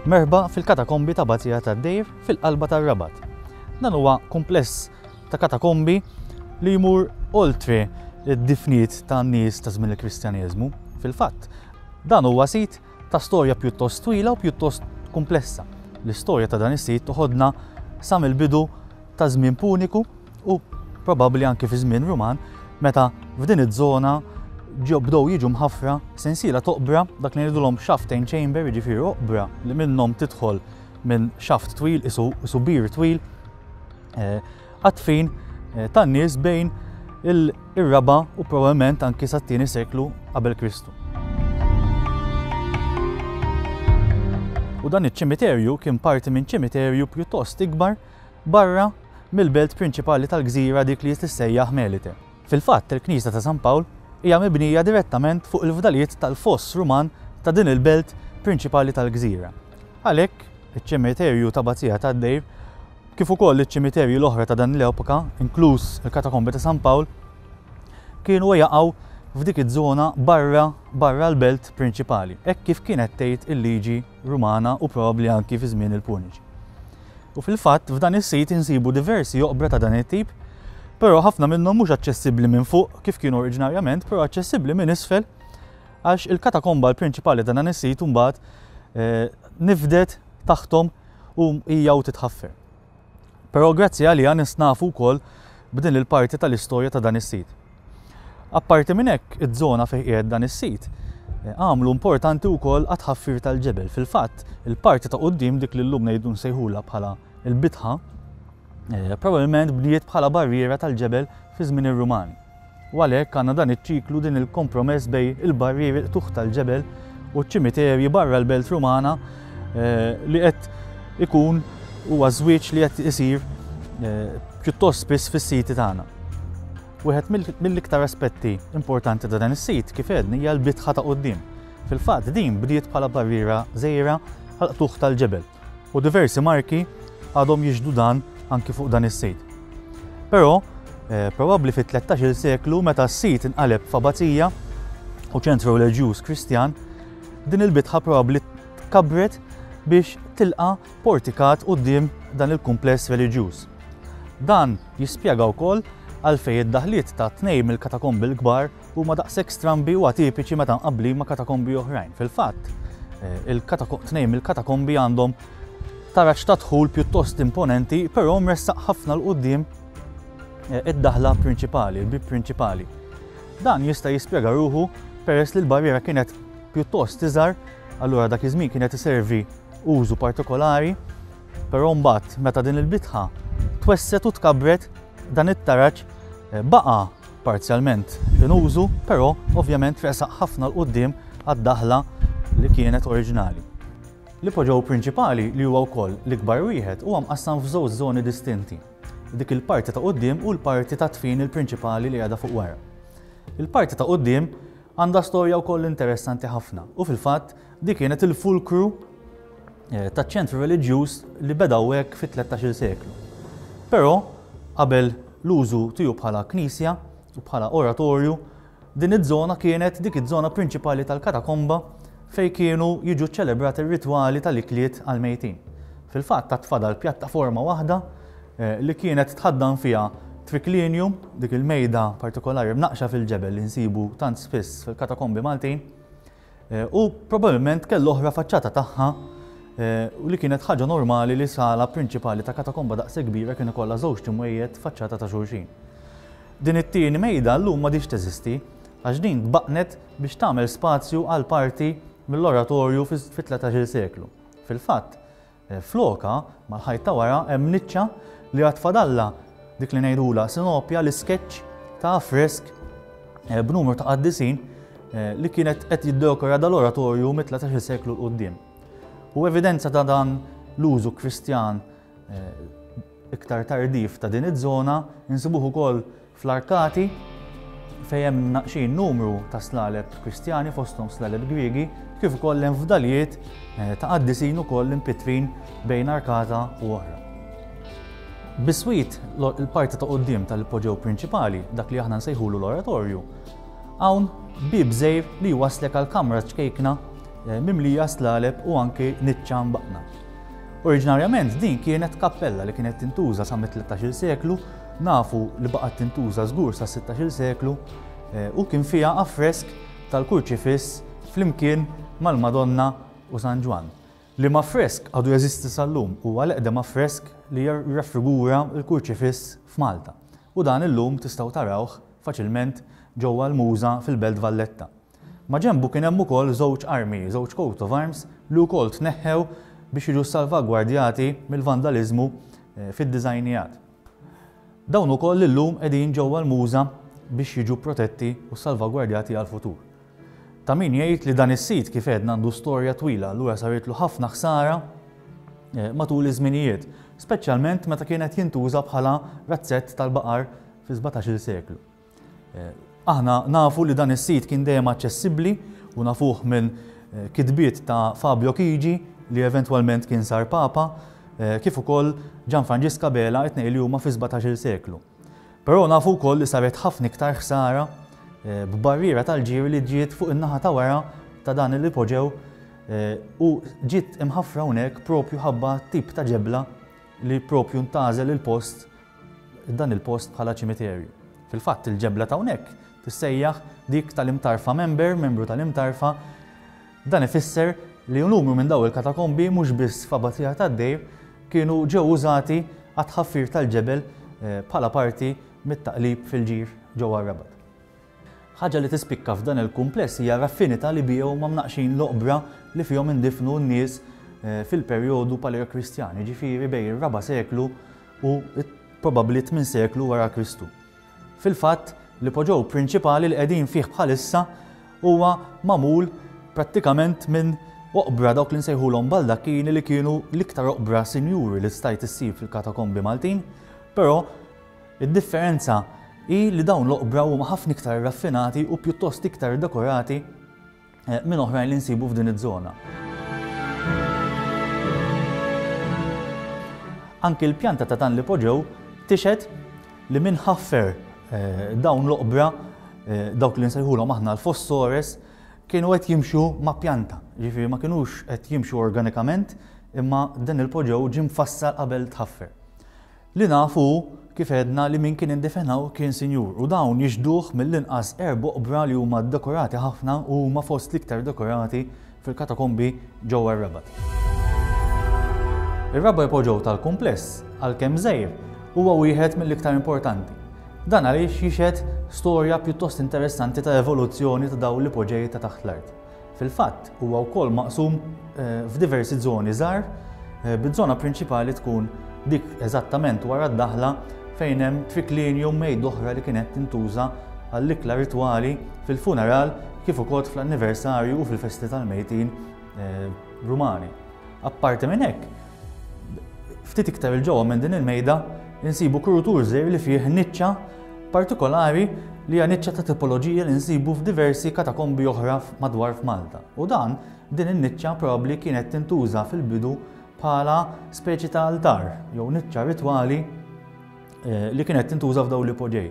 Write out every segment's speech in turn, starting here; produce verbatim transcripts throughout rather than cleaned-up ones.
Merħba fil-katakombi ta' Abbazija tad-Dejr fil-qalba tar-Rabat. Dan huwa kumpless ta' katakombi li jmur oltre id-difniet ta' nies ta' żmien il-Kristjaneżmu. Fil-fatt, dan huwa sit ta' storja pjuttost twila u pjuttost komplessa. L-istorja ta' dan is-sit toħodna sa mill-bidu ta' żmien Puniku u probabbli anke fi żmien Ruman, meta f'din iż-żona ġew bdew jiġu mħaffra sensiela t'oqbra, dak li ngħidulhom shaft and chamber, jiġifieri oqbra li minnhom tidħol minn shaft twil, isu, isu bir twil, eh, għad-dfin eh, tan-nies bejn ir-raba' u probabbilment anki sat-tieni seklu qabel Kristu. U dan iċ-ċimiterju kien parti minn ċimiterju pjuttost ikbar barra mill-belt prinċipali tal-gżira, dik li tissejjaħ Melite. Fil-fatt, il-Knisja ta' San Pawl hija mibnija direttament fuq il-fdalijiet tal-foss Ruman ta' din il-belt prinċipali tal-gżira. Għalhekk, iċ-ċimiterju ta' Abbazija tad-Dejr, kif ukoll iċ-ċimiterji l-oħra ta' dan l-epoka, inkluż il-katakombi ta' San Pawl, kienu jaqgħu f'dik iż-żona barra, barra l-belt prinċipali, hekk kif kienet tgħid il-liġi Rumana u probabbli anki fi żmien il-Puniċi. U fil-fatt f'dan is-sit insibu diversi oqbra ta' dan it-tip, però ħafna minnhom mhux aċċessibbli minn fuq kif kienu oriġinarjament, però aċċessibbli minn isfel, għax il-katakomba l-prinċipali ta' dan is-sit imbagħad, eh, nifdet taħthom u hija u titħaffer. Però grazzi għaliha nisnafu wkoll b'din il-parti tal-istorja ta' dan is-sit. Apparti minn hekk, iż-żona fejn qiegħed dan is-sit, eh, għamlu importanti wkoll għat-tħaffir tal-ġebel. Fil-fatt, il-parti ta' quddiem, dik li llum ngħidu nsejħulha bħala il-bitħa, eh, probabbilment bniet bħala barriera tal-ġebel fi żmien ir-Rumani. U għalhekk għandna dan iċ-ċiklu, din il-kompromess bejn il-barrieri qtuħ tal-ġebel u ċ-ċimiterji barra l-belt Rumana, eh, li qed ikun huwa żwieġ li qed isir, eh, pjuttost spiss fis-siti tagħna. Wieħed mill-, mill-iktar aspetti importanti ta' dan is-sit, kif għedni, hija l-bitħa ta' quddiem. Fil-fatt din bdiet bħala barriera żgħira għal qtuħ tal-ġebel u diversi marki għadhom jixhdu dan anki fuq dan is-sit. Però, eh, probabbli fit-tlettax-il seklu, meta s-sit inqaleb f'abbazija u ċentru reliġjuż Kristjan, din il-bitħa probabbli tkabret biex tilqa' portikat quddiem dan il-kumpless reliġjuż. Dan jispjega wkoll għalfejn id-daħliet ta' tnejn mill-katakombi l-kbar huma daqshekk strambi u atipiċi meta mqabblin ma' katakombi oħrajn. Fil-fatt, eh, il-katako-, tnejn mill-katakombi għandhom taraġ ta' dħul pjuttost imponenti, però mressaq ħafna 'l quddiem, eh, id-daħla prinċipali, il-bib prinċipali. Dan jista' jispjega ruħu peress li l-barriera kienet pjuttost iżgħar, allura dak iż-żmien kienet iservi użu partikolari, però mbagħad meta din il-bitħa twesset u tkabret, dan it-taraġ, eh, baqa' parzjalment in użu, però ovvjament resaq ħafna 'l quddiem għad-daħla li kienet oriġinali. L-ipoġew prinċipali, li huwa wkoll l-ikbar wieħed, huwa mqassam f'żewġ żoni distinti. Dik il-parti ta' quddiem u l-parti ta' dfin il-prinċipali li għadha fuq wara. Il-parti ta' quddiem għandha storja wkoll interessanti ħafna u fil-fatt dik kienet il-fulkru, eh, taċ-ċentru reliġjuż li beda hekk fit-tlettax-il seklu. Però qabel l-użu tiegħu bħala knisja u bħala oratorju, din iż-żona kienet dik iż-żona prinċipali tal-katakomba fej kienu jiġu ċelebrati r-ritwali tal-ikliet għal-mejtin. Fil-fatt ta' tfadal pjattaforma waħda, eh, li kienet tħaddan fiha triclinium, dik il-mejda partikolari mnaqxa fil-ġebel li nsibu tant spiss fil-katakombi Maltin, eh, u probabbilment kellu oħra faċċata tagħha, eh, u li kienet ħaġa normali li sala prinċipali ta' katakomba daqshekk kbira kien ikollha żewġ imwejjed faċċata ta' xulxin. Din it-tieni mejda llum m'għadix teżisti għax din tbaqnet biex tagħmel spazju għal parti mill-oratorju fit-tlettax-il seklu. Fil-fatt, eh, floka mal-ħajt ta' wara hemm niċċa li għad fadalla dik li ngħidula sinopja, l-iskeċċ ta' affresk, eh, b'numru ta' qaddisin, eh, li kienet qed jiddekora dal-oratorju mit-tlettax-il seklu 'l quddiem. U evidenza ta' dan l-użu Kristjan, eh, iktar tardif ta' din iż-żona insibuh ukoll fl-arkati fejn hemm naqxin numru ta' slaleb Kristjani fosthom slaleb Griegi, kif ukoll hemm fdalijiet, eh, ta' qaddisin ukoll impitrin bejn arkata u oħra. Biswit lo-, il-parti ta' quddiem tal-ipoġew prinċipali, dak li aħna nsejħulu l-oratorju, hawn bib żgħir li jwaslek għal kamra ċkejkna mimlija slaleb u anki niċċa mbaqna. Oriġinarjament din kienet kappella li kienet tintuża sa mit-tlettax-il seklu, nafu li baqgħet tintuża żgur sa sittax-il seklu, u kien fiha affresk tal-kurċifiss flimkien mal-Madonna u San Ġwann. Liema affresk għadu jeżisti sal-lum, huwa l-eqdem affresk li jirraffigura l-kurċifiss f'Malta. U dan illum tistgħu tarawh faċilment ġewwa l-Muża fil-Belt Valletta. Ma ġenbu kien hemm ukoll żewġ armi, żewġ coat of arms li wkoll tneħħew biex jiġu salvagwardjati mill-vandaliżmu fid-diżajnijat. Dawn ukoll illum qegħdin ġewwa l-Muża biex jiġu protetti u salvagwardjati għal-futur. Ta' min jgħid li dan is-sit kif għedna għandu storja twila, allura saritlu ħafna ħsara matul iż-żminijiet, speċjalment meta kienet jintuża bħala razzett tal-baqar fi sbatax-il seklu. Aħna nafu li dan is-sit kien dejjem aċċessibbli u nafuh minn kitbiet ta' Fabio Chigi li eventwalment kien sar papa, kif ukoll Gianfranġisk Abela, it-tnejn li huma fi sbatax-il seklu. Però nafu wkoll li saret ħafna iktar ħsara b'barriera tal-ġiri li ġiet fuq in-naħa ta' wara ta' dan il-ipoġew u ġiet imħaffra hawnhekk propju ħabba tip ta' ġebla li propju ntgħażel il-post, dan il-post bħala ċimiterju. Fil-fatt il-ġebla ta' hawnhekk tissejjaħ dik tal-Imtarfa member, membru tal-Imtarfa. Dan ifisser li numru minn daw il-katakombi mhux biss f'Abbazija tad-Dejr kienu ġew użati għat-tħaffir tal-ġebel bħala parti mit-taqlib fil-ġir ġewwa r-Rabat. Ħaġa li tispikka f'dan il-kumpless hija raffinità li biha huma mnaqxin l-oqbra li fihom indifnu n-nies fil-perjodu Paleokristjan, jiġifieri bejn ir-raba' seklu u probabbli tmien seklu wara Kristu. Fil-fatt, l-ipoġew prinċipali li qegħdin fih bħalissa huwa magħmul prattikament minn oqbra dawk li nsejħulhom baldakkini li kienu l-iktar oqbra sinjuri li stajt issib fil-katakombi Maltin, però id-differenza hi li dawn l-oqbra huma ħafna iktar raffinati u pjuttost iktar dekorati minn oħrajn li nsibu f'din iż-żona. Anki l-pjanta ta' dan l-ipoġew tixhed li minn ħaffer dawn l-oqbra, dawk li nsejħulhom aħna l-fossores, kienu qed jimxu ma' pjanta, ġifieri ma kinux qed jimxu organikament, imma dan il-poġew ġie mfassal qabel tħaffer. Li nafu kif għedna li min kien indifenaw kien sinjur, u dawn jixduh mill-inqas erba' oqbra li huma dekorati ħafna u huma fost l-iktar dekorati fil-katakombi ġewwa r-Rabat. Ir-raba' ipoġew tal-kumpless, għalkemm żgħir, huwa wieħed mill-iktar importanti. Dan għaliex jixhed storja pjuttost interessanti ta' evoluzzjoni ta' dawn l-ipoġej ta' taħt l-art. Fil-fatt, huwa wkoll maqsum f'diversi żoni żgħar, biż-żona prinċipali tkun dik eżattament wara d-daħla fejn hemm triclinium mejda oħra li kienet tintuża għall-ikla ritwali fil-funeral kif ukoll fl-anniversarju u fil-festi tal-mejtin Rumani. Apparti minn hekk, ftit iktar il-ġewwa minn din il-mejda insibu kurutur żgħir li fih niċċa partikolari li hija niċċa ta' tipoloġija li nsibu f'diversi katakombi oħra madwar f'Malta. U dan din in-niċċa probabbli kienet tintuża fil-bidu bħala speċi ta' altar jew niċċa ritwali li kienet tintuża f'dawn l-ipoġej.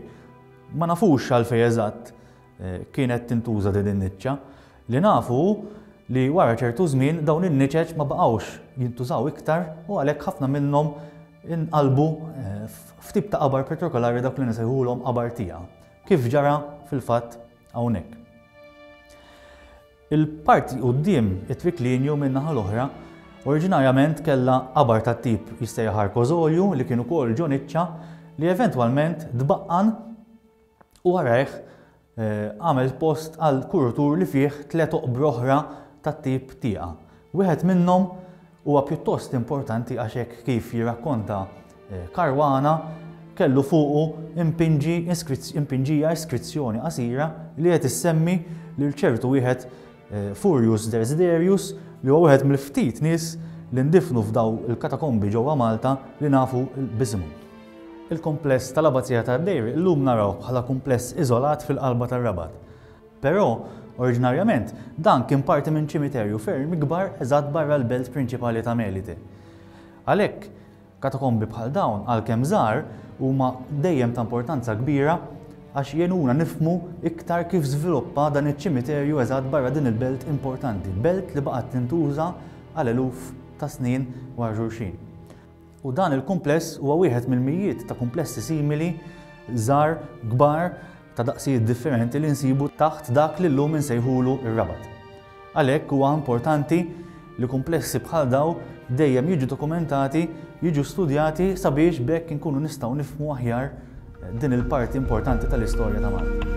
Ma nafux għalfejn eżatt kienet tintuża din in-niċċa. Li nafu li wara ċertu żmien dawn in-niċeċ ma baqgħux jintużaw iktar u għalhekk ħafna minnhom inqalbu f'tip ta' qabar partikolari dak li nsejħulhom qabar tija, kif ġara fil-fatt hawnhekk. Il-parti quddiem it-triclinium min-naħa l-oħra oriġinarjament kellha qabar tat-tip jissejjaħ arkosolju li kien ukoll ġo niċċa li eventwalment tbaqqan u warajh għamel post għal kurutur li fih tliet oqbra oħra tat-tip tieqa. Wieħed minnhom huwa pjuttost importanti għax hekk kif jirrakkonta Caruana kellu fuqu impinġi impinġija iskrizzjoni qasira li qed issemmi lil ċertu wieħed Furius Desiderius li huwa wieħed mill-ftit nies li ndifnu f'daw il-katakombi ġewwa Malta li nafu b'isimhom. Il-kumpless tal-Abbazija tad-Dejr illum naraw bħala kumpless iżolat fil-qalba tar-Rabat. Però, oriġinarjament, dan kien parti minn ċimiterju ferm ikbar eżatt barra l-belt prinċipali ta' Melite. Għalhekk, katakombi bħal dawn għalkemm żgħar huma dejjem ta' importanza kbira għax jgħinuna nifhmu iktar kif żviluppa dan iċ-ċimiterju eżatt barra din il-belt importanti, belt li baqgħet tintuża għal eluf ta' snin wara xulxin. U dan il-kumpless huwa wieħed mill-mijiet ta' kumplessi simili żgħar, kbar, ta' daqsijiet differenti li nsibu taħt dak li llum insejħulu ir-Rabat. Għalhekk huwa importanti li kumplessi bħal daw dejjem jiġu dokumentati, jiġu studjati sabiex b'hekk inkunu nistgħu nifhmu aħjar din il-parti importanti tal-istorja ta' Malta.